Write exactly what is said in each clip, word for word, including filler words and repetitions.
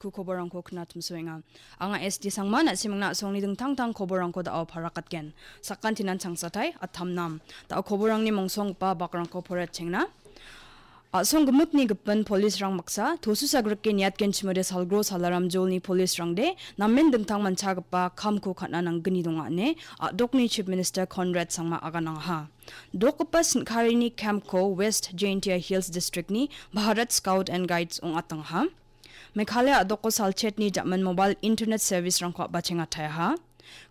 Ku koborrangko knatimsoenga. Anga S D Sangma, na·simangna a·songni dingtang-tang koborrangko da·o parakatgen. Sakantinan changsatai, atamnam. Da·o koborrangni mongsonggipa bakrangko poraiatchengna. A·song gimikni gipin polisrang baksa, tosu sagrike niatgenchimode salgro salaram jolni polisrangde, namen dingtang manchagipa kamko ka·na nanggni donga ine, a·dokni Chief Minister Conrad Sangma aganangaha. Dokgipa sin·karini campko West Jaintia Hills Districtni Bharat Scout and Guides ong·atangaha. Meghalaya a·doko salchetni jaman mobile internet service-rangko a·bachengataiaha.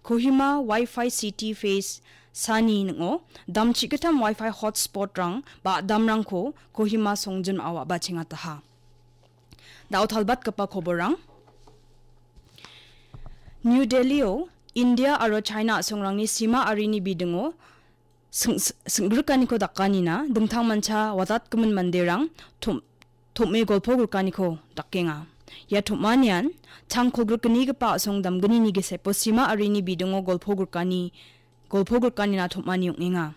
Kohima Wi-Fi City Phase sani ning·o damchigitam Wi-Fi hotspot-rang ba damrangko Kohima songjinmao a·bachengataha. Da·o talbatgipa koborrang. New Delhi-o India aro China a·songrangni sima arini bidingo sing-, sing-, sing·grikaniko dakanina dingtangmancha wadatgimin manderang tom-, tom·e golpo grikaniko dakenga. Ia tom·anian tangko grikgnigipa a·song damgnini gisepo sima arini bidingo golpo grikani, golpo grikanina tom·ani ong·enga.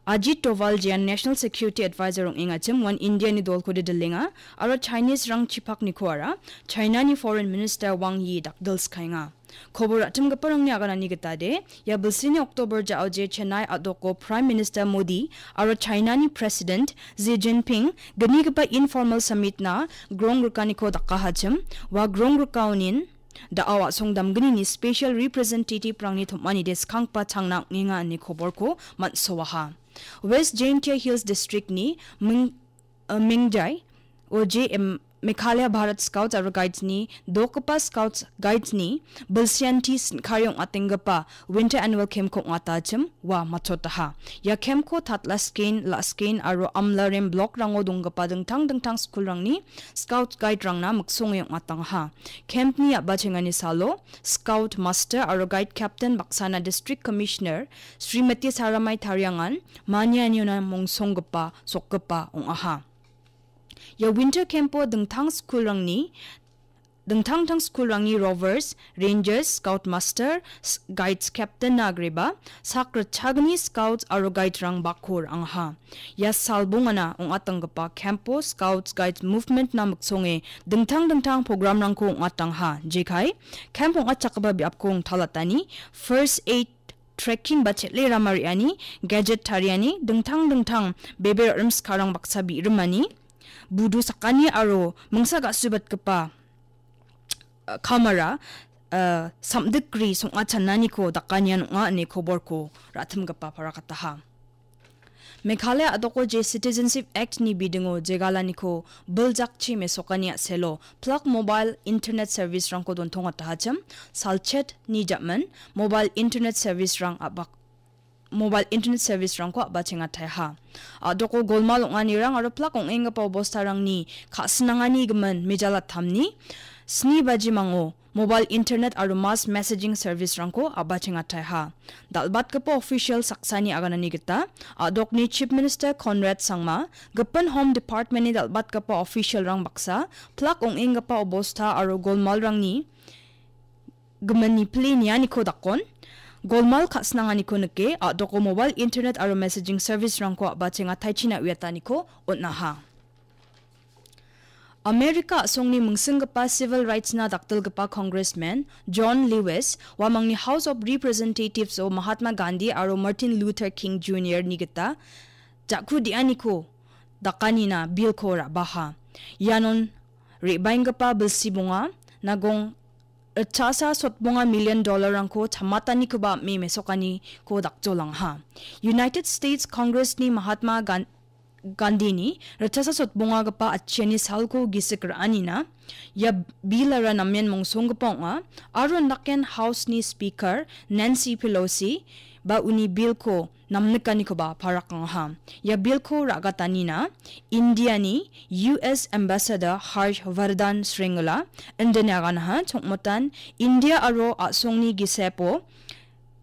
Ajit Doval jean National Security Advisor ong·engachim uan Indiani dolkode dilenga aro Chinese-rang chipaknikoara China-ni Foreign Minister Wang Yi dakdilskaenga. Kobor ra·timgiparangni aganani gitade, ia bilsini October ja·oje Chennai a·doko Prime Minister Modi aro China-ni President Xi Jinping gnigipa informal summit-na gronggrikaniko dakahachim, ua gronggrikaniko da·o a·song damgnini special representative-rangni tom·anide skanggipa changna ong·enga ine koborko man·soaha. West Jaintia Hills District-ni Ming-, eh, Mingjai, O J M Meghalaya Bharat Scouts aro Guides-ni dokgipa Scouts Guides-ni bilsianti sin·kari ong·atenggipa Winter Annual Camp-ko ong·atachim ua matchotaha. Ia camp-ko Tatlaskein, Laskein aro Amlarem block-rango donggipa dingtang dingtang school-rangni Scout Guide-rangna miksonge ong·atangaha. Camp-ni a·bachengani salo Scout Master aro Guide Captain baksana District Commissioner Srimati Saramai tariangan manianiona mongsonggipa sokgipa ong·aha. Ia winter camp-o dingtang school-rangni, dingtang-dingtang school-rangni rovers, rangers, scout master, s-, guides captain-na agreba, sak ritchagni scouts aro guide-rang bako ra·angaha. Ia salbongana ong·atanggipa camp-o scouts guides movement-na miksonge dingtang-dingtang program-rangko ong·atangaha. Jekai, camp ong·atchakgipa biapko ong·talatani, first aid, trekking ba chel·e rama re·ani, gadget tariani, dingtang dingtang bebe ra·rim sikarang baksa bi·rimani, budu sakani aro mingsa ga·subatgipa, uh, kamara, uh, samdikgri song·achannaniko dakanian ong·a ine koborko ra·timgipa parakataha. Meghalaya a·doko je Citizenship Act-ni bidingo jegalaniko biljakchi mesokani a·selo plak mobile internet service-rangko dontongatahachim, salchet ni jaman mobile internet service-rang a·bak-, mobile internet service-rangko a·bachengataiaha. A·doko golmal ong·anirang aro plak ong·enggipa obostarangni ka·sinangani gimin mejalattamni sni bajimango mobile internet aro mass messaging service-rangko a·bachengataiaha. Dal·batgipa official saksani aganani gita, a·dokni Chief Minister Conrad Sangma, gipin Home Department-ni dal·batgipa official-rang baksa, plak ong·enggipa obosta aro golmalrangni gimin nipile nianiko dakon, golmal ka·sinanganiko nike, a·doko mobile internet aro messaging service-rangko a·bachengataichina uiataniko on·aha. Amerika a·songni mingsinggipa civil rights-na dakdilgipa Congressman John Lewis uamangni House of Representatives-o Mahatma Gandhi aro Martin Luther King Junior-ni gita ja·ku de·aniko dakanina bill-ko ra·baha. Ianon re·baenggipa bilsi bonga, nagong ritchasa sotbonga million dollar-rangko chamatanikoba am·e mesokaniko dakjolangaha. United States Congress-ni Mahatma Gan-, Gandhi-ni ritchasa sotbongagipa atchiani salko gisik ra·anina ia bill-ara namen mongsonggipa ong·a aro indaken House-ni Speaker Nancy Pelosi ba uni bill-ko namnikanikoba parakangaha. Ia bill-ko ra·gatanina India-ni U S Ambassador Harsh Vardhan Shringla indine aganaha, chongmotan India aro a·songni gisepo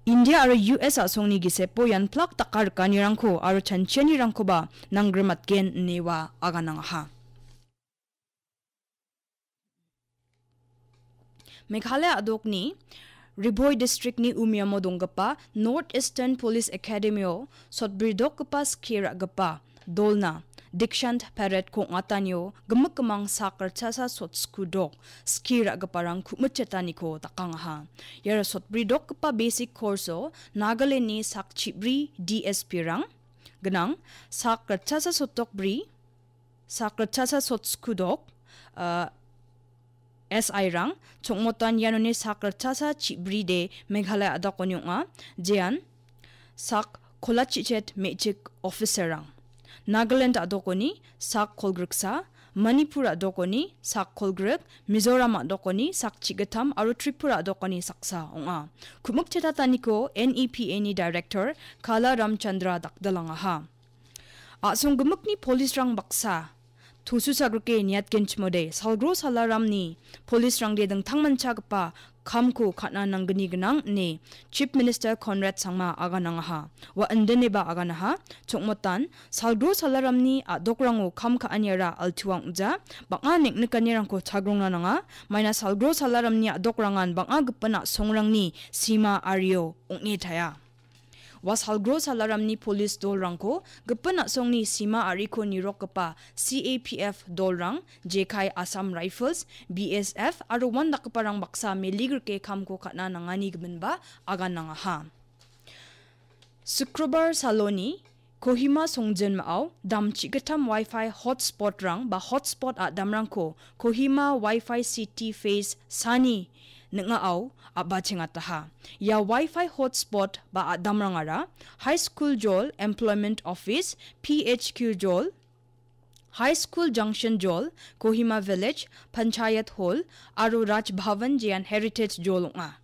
India aro U S a·songni gisepo ian plak daka rikanirangko aro chanchianirangkoba nanggrimatgen ine ua aganangaha. Meghalaya a·dokni Ri Bhoi District-ni Umiamo donggipa North Eastern Police Academy-o sotbridokgipa skie ra·gipa dolna Dikshant Parade-ko ong·atanio gimik gimang sak ritchasa sotskudok skie ra·giparang ku·mitchetaniko dakangaha. Iara sotbri dokgipa basic course-o Nagaland-ni sak chibri D S P-rang gnang, sak ritchasa sotdok bri, sak ritchasa sotskudok, ah, S I-rang, chongmotan ianoni sak ritchasa chibride Meghalaya a·dokoni ong·a, jean sak kolachichet me·chik officer-rang. Nagaland a·dokoni sak kolgriksa, Manipur a·dokoni sak kolgrik, Mizoram a·dokoni sak chigittam aro Tripura a·dokoni saksa ong·a. Ku·mikchetataniko N E P A-ni director Kala Ramchandra dakdilangaha. A·song gimikni police-rang baksa tosusagrike niatgenchimode, Salgro Salaramni police-rangde dingtangmanchagipa kamko ka·na nanggni gnang ine Chief Minister Conrad Sangma aganangaha. Ua indineba aganaha, chongmotan Salgro Salaramni a·dokrango kam ka·aniara altuang ong·ja, bang·a neng·nikanirangko chagrongna nanga, maina Salgro Salaramni a·dokrangan bang·a gipin a·songrangni sima ario ong·e taia. Ua Salgro Salaramni police dolrangko gipin a·songni sima ariko nirokgipa C A P F dolrang, jekai Assam Rifles, B S F aro uandakgiparang baksa meligrike kamko ka·na nangani giminba aganangaha. Sukrobar saloni Kohima songjinmao damchi gittam Wi-Fi hotspot-rang ba hotspot a·damrangko Kohima Wi-Fi City Phase sani ning·ao a·bachengataha. Ia Wi-Fi hotspot ba a·damrangara High School Jol, Employment Office, P H Q Jol, High School Junction Jol, Kohima Village, Panchayat Hall, aro Raj Bhavan jean Heritage Jol ong·a.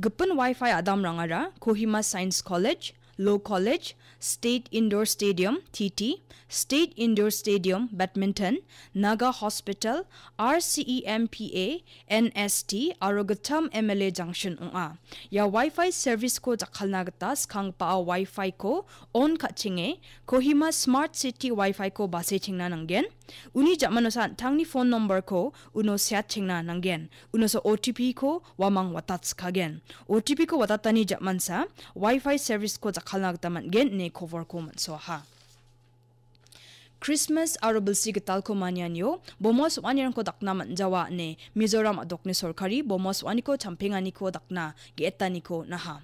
Gipin Wi-Fi a·damrangara Kohima Science College, Law College, State Indoor Stadium, T T, State Indoor Stadium, Badminton, Naga Hospital, R C E M P A, N S T aro gittam M L A Junction ong·a. Ia Wi-Fi service-ko jakkalna gita skanggipa Wi-Fi-ko on ka·chenge, Kohima Smart City Wi-Fi-ko basechengna nanggen. Uni ja·manosa an·tangni phone number-ko uno seatchengna nanggen. Unosa O T P-ko uamang watatskagen. O T P-ko watatani ja·mansa Wi-Fi service-ko jakkalna gita man·gen ine koborko man·soaha. Krismas aro bilsi gitalko manianio boma so·anirangko dakna man·jawa ine Mizoram a·dokni sorkari boma so·aniko champenganiko dakna ge·etaniko on·aha.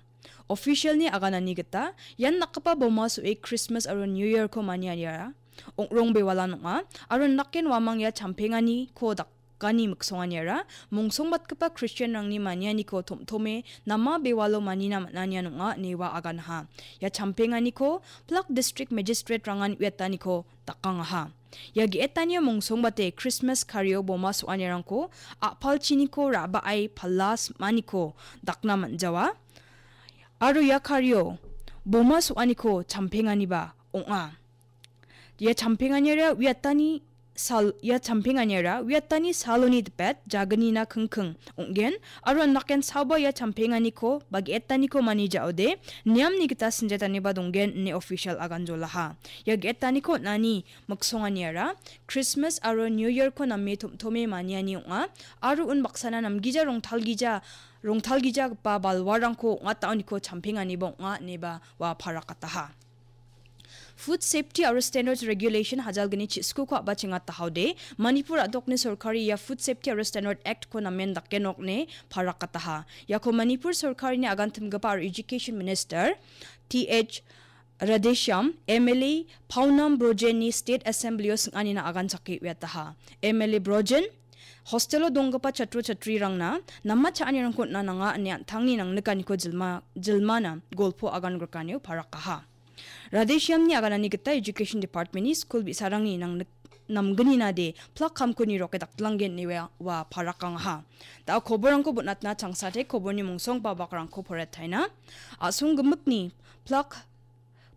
Official-ni aganani gita ian dakgipa boma so·e Krismas aro New Year-ko manianiara ong·rong bewalan ong·a aro naken uamang ia champenganiko dak- gani miksonganiara mongsongbatgipa Kristianrangni manianiko tom·tome nama bewalo manina man·anian ong·a ine ua aganaha. Ia champenganiko Plak District Magistrate-rangan uiataniko dakangaha. Ia ge·etanio mongsongbate Krismas kario boma so·anirangko a·palchiniko ra·bae pala sim·aniko dakna man·jawa. Aro ia kario boma so·aniko champenganiba ong·a. Ia champenganiara uiatani sal-, ia champenganiara uiatani saloni dipet jagnina kingking ong·gen, aro naken saoba ia champenganiko ba ge·etaniko mani ja·ode niamni gita sinjataniba donggen ine official aganjolaha. Ia ge·etaniko on·ani miksonganiara Krismas aro New Year-ko name tom·tome maniani ong·a, aro unbaksana namgija rongtalgija, rongtalgijagipa balwarangko ong·ataoniko champenganiba ong·a ineba ua parakataha. Food Safety aro Standards Regulation hajalgni chiskuko a·bachengatahaode, Manipur a·dokni sorkari ia Food Safety aro Standard Act-ko namen dakenok ine parakataha. Iako Manipur sorkarini agantimgipa aro Education Minister T H Radheshyam, M L A Paonam Brojenni State Assembly-o sing·anina aganchake uiataha. M L A Brojen, hostelo donggipa chatro chatrirangna nama cha·anirangko on·na nanga ine an·tangni nangnikaniko jilma-, jilmana golpo agan grikanio parakaha. Radheshyamni aganani gita Education Department-ni skul bi·sarangni nangnik-, namgnina de plak kamko niroke daktlanggen ine ua, ua parakangaha. Da·o koborangko bon·atna changsate koborni mongsongba bakrangko poretaina. A·song gimikni plak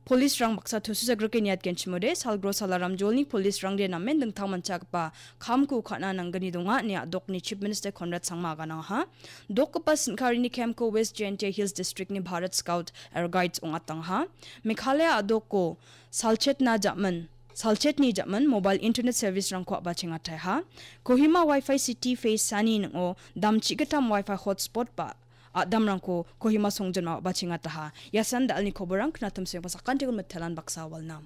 police-rang baksa tusisagrike niatgenchimode, Salgro Salaram Jolni police-rangde namen dingtangmanchagipa kamko ka·na nanggni donga ine a·dokni Chief Minister Conrad Sangma aganangaha. Dokgipa sin·karini camp-ko West Jaintia Hills District-ni Bharat Scout aro Guides ong·atangaha. Meghalaya a·doko salchetna jaman, salchetni jaman mobile internet service-rangko a·bachengataiha. Kohima Wi-Fi City Phase sani ning·o damchi gittam Wi-Fi hotspot ba a·damrangko Kohima songjinmao a·bachengataha. Iasan da·alni koborang, knatim sengpa sakantiko mitelan baksa walnam.